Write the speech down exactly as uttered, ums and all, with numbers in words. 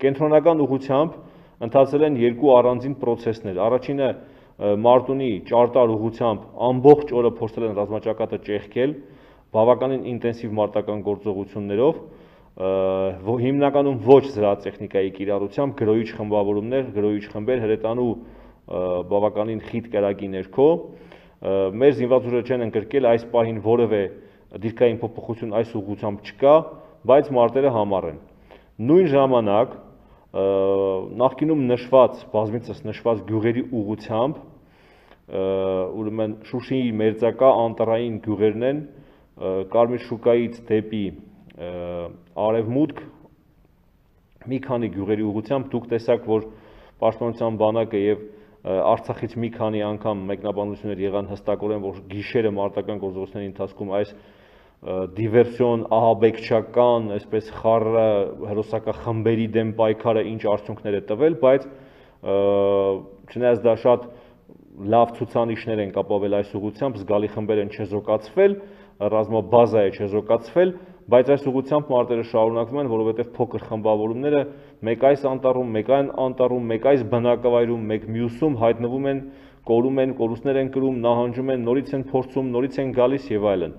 Կենտրոնական ուղղությամբ ընթացել են երկու առանձին պրոցեսներ։ Առաջինը Մարտունի ճարտար ուղղությամբ ամբողջ օրը փորձել են ռազմաճակատը ճեղքել, բավականին ինտենսիվ մարտական գործողություններով, հիմնականում ոչ զրահատեխնիկայի կիրառությամբ, գրոհիչ խմբավորումներ, գրոհիչ խմբեր հրետանու բավականին խիտ կրակի ներքո։ Մեր զինված ուժերը չեն ընկրկել այս պահին որևէ դիրքային փոփոխություն այս ուղղությամբ չկա, բայց մարտերը համառ են։ Նույն ժամանակ նախկինում նշված, բազմիցս նշված գյուղերի ուղղությամբ, ուրեմն Շուշիի մերձակա անտառային գյուղերն են, Կարմիր շուկայից դեպի արևմուտք մի քանի գյուղերի ուղղությամբ դուք տեսաք, որ Պաշտպանության բանակը եւ Արցախից մի քանի անգամ մեկնաբանություններ եղան հստակորեն, որ գիշերը մարտական գործողությունների ընթացքում այս դիվերսիոն, ահաբեկչական, այսպես խառը հերոսական խմբերի դեմ պայքարը ինչ արդյունքներ է տվել, բայց չնայած դա շատ լավ ցուցանիշներ են կապավել այս ուղղությամբ, զգալի խմբեր են չեզոքացվել, ռազմաբազա է չեզոքացվել, բայց այս ուղղությամբ մարտերը շարունակվում են, որովհետև փոքր խմբավորումները մեկ այս անտառում, մեկ այն անտառում, մեկ այս բնակավայրում, մեկ մյուսում հայտնվում են, կորում են, կորուստներ են կրում, նահանջում են, նորից են փորձում, նորից են գալիս եւ այլն։